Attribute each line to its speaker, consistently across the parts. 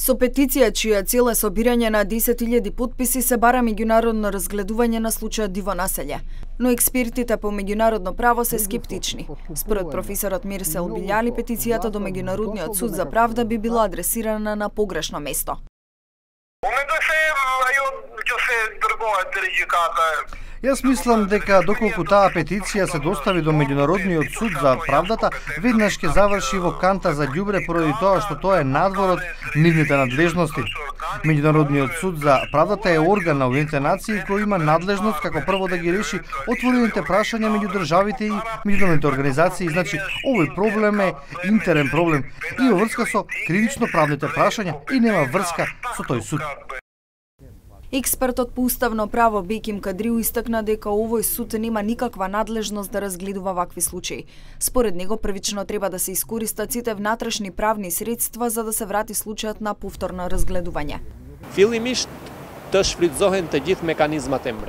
Speaker 1: Со петиција чија цел е собирање на 10.000 потписи се бара меѓународно разгледување на случајот Диво населје, но експертите по меѓународно право се скептични. Според професорот Мирсел Билјали, петицијата до Меѓународниот суд за правда би била адресирана на погрешно место.
Speaker 2: Јас мислам дека доколку таа петиција се достави до Меѓународниот суд за правдата, веднаш ќе заврши во канта за ѓубре поради тоа што тоа е надвор од нивните надлежности. Меѓународниот суд за правдата е орган на Обединетите нации кој има надлежност како прво да ги реши отворените прашања меѓу државите и меѓународните организации. Значи, овој проблем е интерен проблем и во врска со кривично правните прашања и нема врска со тој суд.
Speaker 1: Експертот по уставно право Беким Кадриу истакна дека овој суд нема никаква надлежност да разгледува вакви случаи. Според него првично треба да се искористат сите внатрешни правни средства за да се врати случајот на повторно разгледување.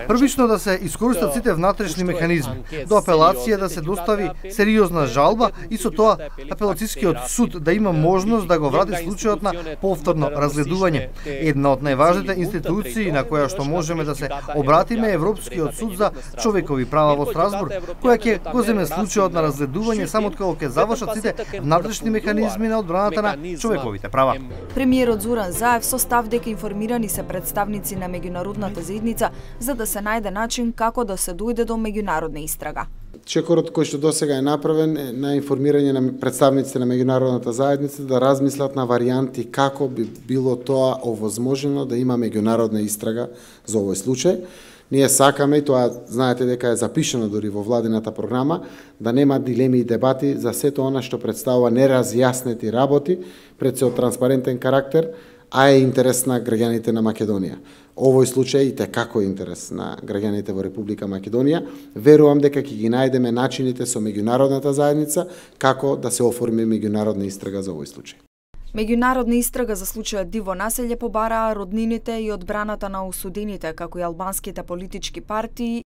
Speaker 2: Првично да се искористат сите внатрешни механизми, до апелација да се достави сериозна жалба и со тоа апелацијскиот суд да има можност да го врати случајот на повторно разгледување. Една од најважните институции на која што можеме да се обратиме е Европскиот суд за човекови права во Страсбург, која ќе го земе случајот на разгледување само кога ќе завршат сите внатрешни механизми на одбраната на човековите права.
Speaker 1: Премиерот Зоран Заев со став дека информирани се представници на меѓународната заедница за да се најде начин како да се дојде до меѓународна истрага.
Speaker 3: Чекорот кој што досега е направен на информирање на представниците на меѓународната заедница да размислат на варијанти како би било тоа овозможено да има меѓународна истрага за овој случај. Ние сакаме, и тоа знаете дека е запишено дури во владината програма, да нема дилеми и дебати за сето она што представува неразјаснети работи пред се од транспарентен карактер, а е интерес на граѓаните на Македонија. Овој случај и како е интерес на граѓаните во Република Македонија. Верувам дека ќе ги најдеме начините со меѓународната заедница како да се оформи меѓународна истрага за овој случај.
Speaker 1: Меѓународна истрага за случајот Диво населје побараа роднините и одбраната на осудените, како и албанските политички партии